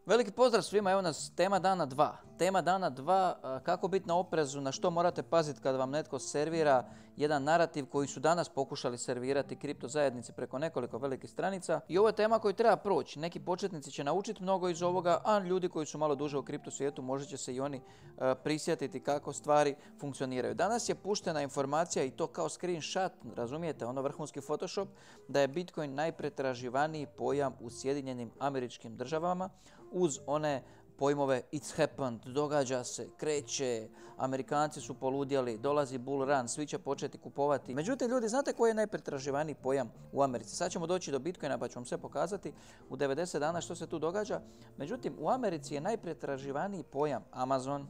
Veliki pozdrav svima, evo nas tema dana 2. Tema dana 2, kako biti na oprezu, na što morate paziti kada vam netko servira jedan narativ koji su danas pokušali servirati kripto zajednici preko nekoliko velikih stranica. I ovo je tema koju treba proći. Neki početnici će naučiti mnogo iz ovoga, a ljudi koji su malo duže u kripto svijetu možda će se i oni prisjetiti kako stvari funkcioniraju. Danas je puštena informacija i to kao screenshot, razumijete, ono vrhunski Photoshop, da je Bitcoin najpretraživaniji pojam u Sjedinjenim Američkim Državama, uz one pojmove it's happened, događa se, kreće, Amerikanci su poludjeli, dolazi bull run, svi će početi kupovati. Međutim, ljudi, znate koji je najpretraživaniji pojam u Americi? Sad ćemo doći do Bitcoina pa ću vam sve pokazati u 90 dana što se tu događa. Međutim, u Americi je najpretraživaniji pojam Amazon,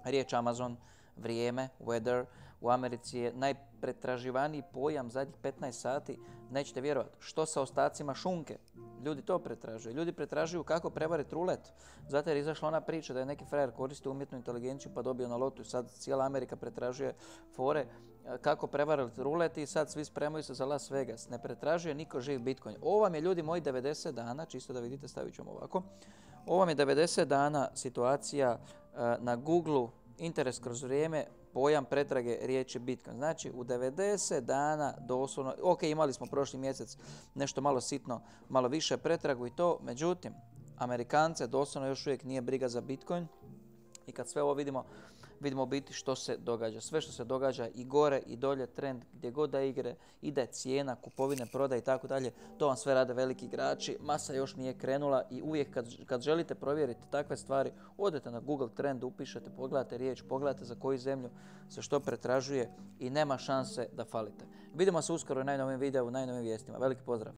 riječ Amazon, vrijeme, weather. U Americi je najpretraživaniji pojam zadnjih 15 sati, nećete vjerovati, što sa ostacima šunke. Ljudi to pretražuju. Ljudi pretražuju kako prevariti rulet. Zato je izašla ona priča da je neki frajer koristio umjetnu inteligenciju pa dobio na lotu. Sad cijela Amerika pretražuje fore kako prevariti rulet i sad svi spremaju se za Las Vegas. Ne pretražuje niko živ Bitcoin. Ovo vam je, ljudi moji, 90 dana, čisto da vidite, stavit ćemo ovako. Ovo vam je 90 dana situacija na Google-u, interes kroz vrijeme, pojam pretrage riječi Bitcoin. Znači, u 90 dana doslovno, ok, imali smo prošli mjesec nešto malo sitno, malo više pretragu i to, međutim, Amerikance doslovno još uvijek nije briga za Bitcoin i kad sve ovo vidimo u biti što se događa. Sve što se događa i gore i dolje, trend gdje god da ide cijena, kupovine, prodaje i tako dalje, to vam sve rade veliki igrači, masa još nije krenula i uvijek kad želite provjeriti takve stvari, odete na Google Trend, upišete, pogledate riječ, pogledate za koju zemlju se što pretražuje i nema šanse da falite. Vidimo se uskoro u najnovijem videu, u najnovijim vijestima. Veliki pozdrav!